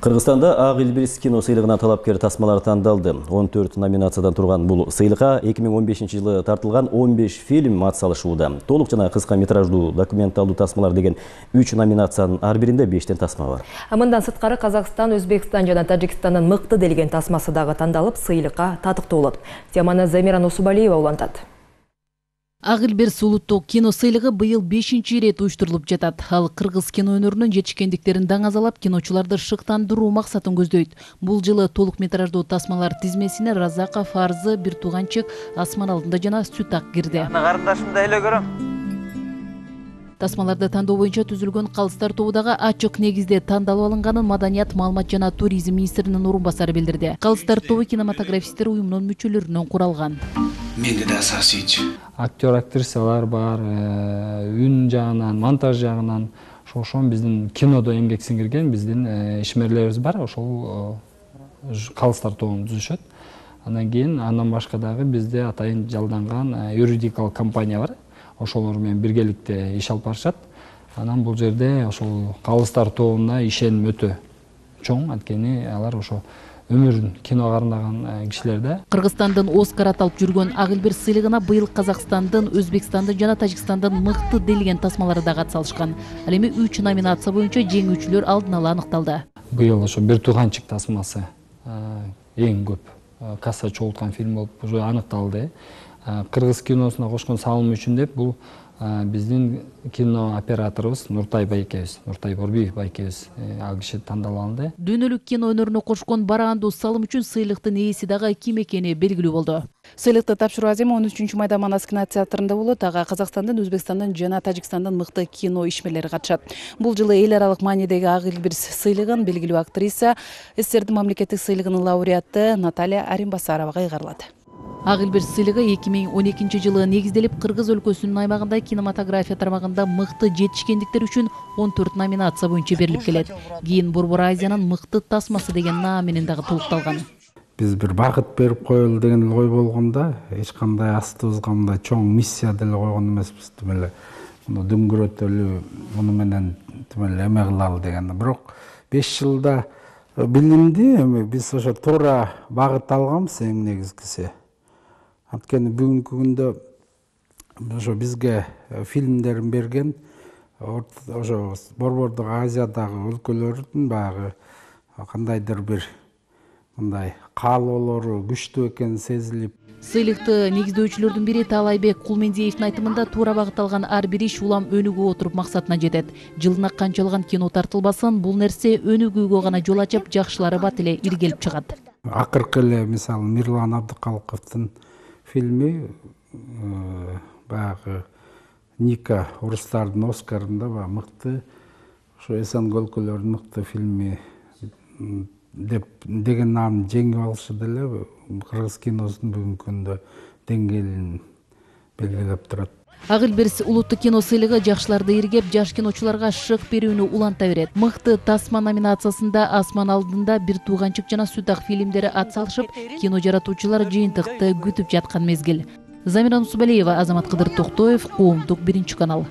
Кыргызстанда Ак Илбирис кино сыйлыгына талапкер тасмалар тандалды. 14 номинациядан турган бул сыйлыкка 2015 жылы тартылган 15 фильм атсалышууда. Толук жана кыска метраждуу документалдуу тасмалар деген 3 номинациянын ар биринде 5 тасма бар. Мындан сырткары Казакстан, Өзбекстан жана Тажикстандын мыкты делген тасмасы дагы тандалып, сыйлыкка татыктуу болот. Теманы Замира Нусубалиева улантат. Ак Илбирис улуттук кино сыйлыгы быйыл 5-чи ирет уюштурулуп жатат. Ал кыргыз кино өнөрүнүн жетишкендиктерин даңазалап, киночуларды шыктандыруу максатын көздөйт. Бул жылы толук метраждуу тасмалар тизмесине Разаков, Фарзы, Бир тууганчык, Асман алдында жана Сүт ак кирди. Карындашымды эле көрөм. Тасмаларды тандоо боюнча түзүлгөн калыстар тобу дагы ачык негизде тандалып алынганын Маданият, маалымат жана туризм министринин орун басары билдирди. Калыстар тобу кинематографисттер уюмунун мүчөлөрүнөн куралган. Менде да сасыйчы. Актер, актрисалар бар, үн жагынан, монтаж жагынан, ошон биздин кинодо эмгек сиңирген биздин ишмерлерибиз бар, ошол калыстар тобун түзүшөт. Андан башка дагы бизде атайын жалданган юридикалык компания бар. Ошолор менен биргеликте иш алып барышат. Анан бул жерде ошол калыстар тобуна ишеним өтө чоң, анткени алар ошо өмүрүн киного арнаган кишилер да. Кыргызстандын Оскар аталып жүргөн Ак Илбирис сыйлыгына быйыл Казакстандын, Өзбекстандын жана Тажикстандын мыкты делген тасмалары дагы атсалышкан. Ал эми 3 номинация боюнча жеңүүчүлөр алдын ала аныкталды. Быйыл ошо Бир тууганчык тасмасы эң көп касса чогулткан фильм болуп уже аныкталды. Кыргыз киносуна кошкон салым үчүн деп бул биздин кино операторубуз Нуртай байкебиз, Нуртай Борбиев байкебиз ал киши тандалып алынды. Дүйнөлүк кино өнөрүнө кошкон бараандуу салым үчүн сыйлыктын ээси дагы ким экени белгилүү болду. Сыйлыкты тапшыруу аземи 13 майда Манас кинотеатрында болот. Ага Казакстандын, Өзбекстандын жана Тажикстандын мыкты кино ишмерлери катышат. Бул жылы эл аралык маанидеги Ак Илбирис сыйлыгын белгилүү актриса, СССРдин мамлекеттик сыйлыгынын лауреаты Наталья Аримбасаровага ыйгарылат. Ак Илбирис сыйлыгы 2012 жылы негизделип, Кыргыз өлкөсүнүн аймагында кинематография тармагында мыкты жетишкендиктер үчүн 14 номинация боюнча берилип келет. Кийин Борбор Азиянын мыкты тасмасы деген наам менен дагы толукталган. Биз бир багыт берип коелу деген ой болгондо, эч кандай астыбызга мындай чоң миссия деле койгон эмеспиз. Демеле муну дөңгөрөтөлү, муну менен демеле эме кылалы деген. Бирок 5 жылда билимди эми биз ошо туура багыт алганбыз эң негизгиси. Анткени бүгүнкү күндө ошо бизге фильмдерин берген ошо Борбордук Азиядагы өлкөлөрдүн багы кандайдыр бир мындай каалоолору күчтүү экени сезилип. Сыйлыкты негиздөөчүлөрдүн бири Таалайбек Кулмендиевдин айтымында туура багыт алган ар бир иш улам өнүгүп отуруп максатына жетет. Жылына канчалаган кино тартылбасын, бул нерсе өнүгүүгө гана жол ачып, жакшылары бат эле иргелип чыгат. Акыркы эле мисалы Мирлан Абдыкалыковдун фильми баягы Ника орустардын Оскарында мыкты, ошо Эсенгөл өлкөлөрүнүн мыкты фильми деген наамды жеңип алышы деле кыргыз киносунун бүгүнкү күндө деңгээлин белгилеп турат. Ак Илбирис улуттук кино сыйлыгы жакшыларды иргеп, жаш киночуларга шык берүүнү уланта берет. Мыкты тасма номинациясында Асман алдында, Бир тууганчык жана Сүт ак фильмдери атсалышып, кино жаратуучулар жыйынтыкты күтүп жаткан мезгил. Замира Нусубалиева, Азамат Кыдыр Токтоев, Коомдук, 1 канал.